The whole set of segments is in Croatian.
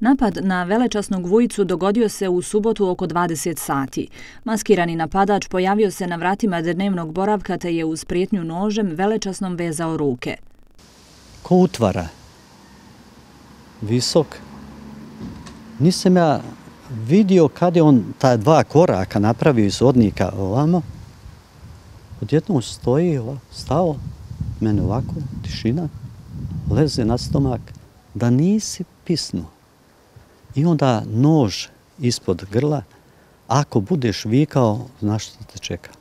Napad na velečasnog Vujicu dogodio se u subotu oko 20 sati. Maskirani napadač pojavio se na vratima dnevnog boravka te je uz prijetnju nožem velečasnom vezao ruke. Ko utvara? Visok. Nisam ja vidio kad je on ta 2 koraka napravio iz hodnika ovamo. Odjednom stoji, stao, mene ovako, tišina, leze na stomak, da nisi pisnuo. I onda nož ispod grla, ako budeš vikao, znaš što te čeka.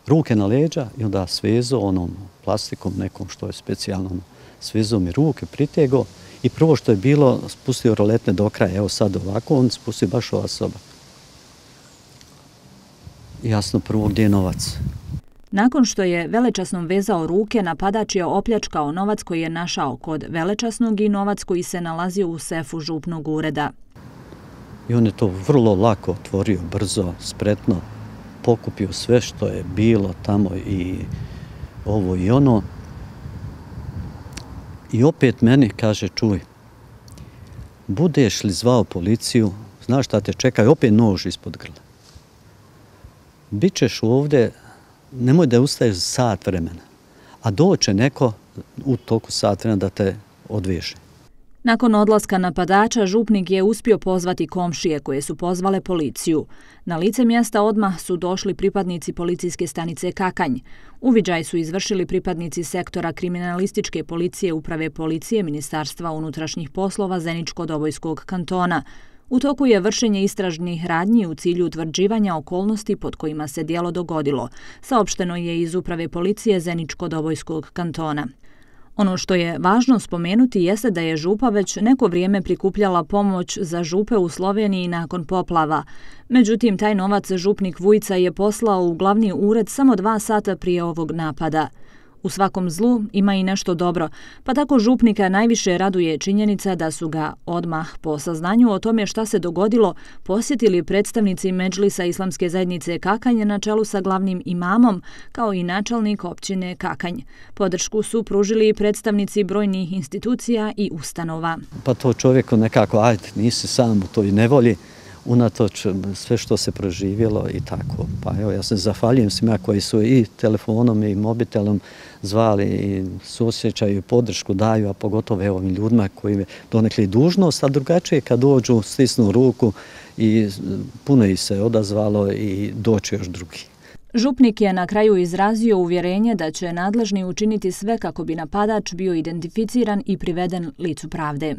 Ruke na leđa i onda svezo onom plastikom nekom što je specijalno, svezo mi ruke, pritego i prvo što je bilo, spustio roletne do kraja, evo sad ovako, on spustio baš ova soba. Jasno prvo gdje je novac. Nakon što je velečasnom vezao ruke, napadač je opljačkao novac koji je našao kod velečasnog i novac koji se nalazio u sefu župnog ureda. I on je to vrlo lako otvorio, brzo, spretno, pokupio sve što je bilo tamo i ovo i ono. I opet meni kaže, čuj, budeš li zvao policiju, znaš šta te čeka, i opet nož ispod grla. Bićeš ovdje, nemoj da ustaješ sat vremena, a doće neko u toku sat vremena da te odveže. Nakon odlaska napadača, župnik je uspio pozvati komšije koje su pozvale policiju. Na lice mjesta odmah su došli pripadnici policijske stanice Kakanj. Uviđaj su izvršili pripadnici sektora kriminalističke policije Uprave policije Ministarstva unutrašnjih poslova Zeničko-Dobojskog kantona. U toku je vršenje istražnih radnji u cilju utvrđivanja okolnosti pod kojima se djelo dogodilo, saopšteno je iz Uprave policije Zeničko-Dobojskog kantona. Ono što je važno spomenuti jeste da je župa već neko vrijeme prikupljala pomoć za župe u Sloveniji nakon poplava. Međutim, taj novac župnik Vujica je poslao u glavni ured samo 2 sata prije ovog napada. U svakom zlu ima i nešto dobro, pa tako župnika najviše raduje činjenica da su ga odmah po saznanju o tome šta se dogodilo posjetili predstavnici Medžlisa Islamske zajednice Kakanj na čelu sa glavnim imamom, kao i načelnik općine Kakanj. Podršku su pružili i predstavnici brojnih institucija i ustanova. Pa to čovjeku nekako, ajde, nisi sam u toj nevolji, unatoč sve što se proživjelo i tako. Pa evo, ja se zahvaljujem svima koji su i telefonom i mobitelom zvali i suosjećaju, podršku daju, a pogotovo evo ovim ljudima koji je donekli dužnost, a drugačije kad dođu, stisnu ruku i puno ih se odazvalo i doći još drugi. Župnik je na kraju izrazio uvjerenje da će nadležni učiniti sve kako bi napadač bio identificiran i priveden licu pravde.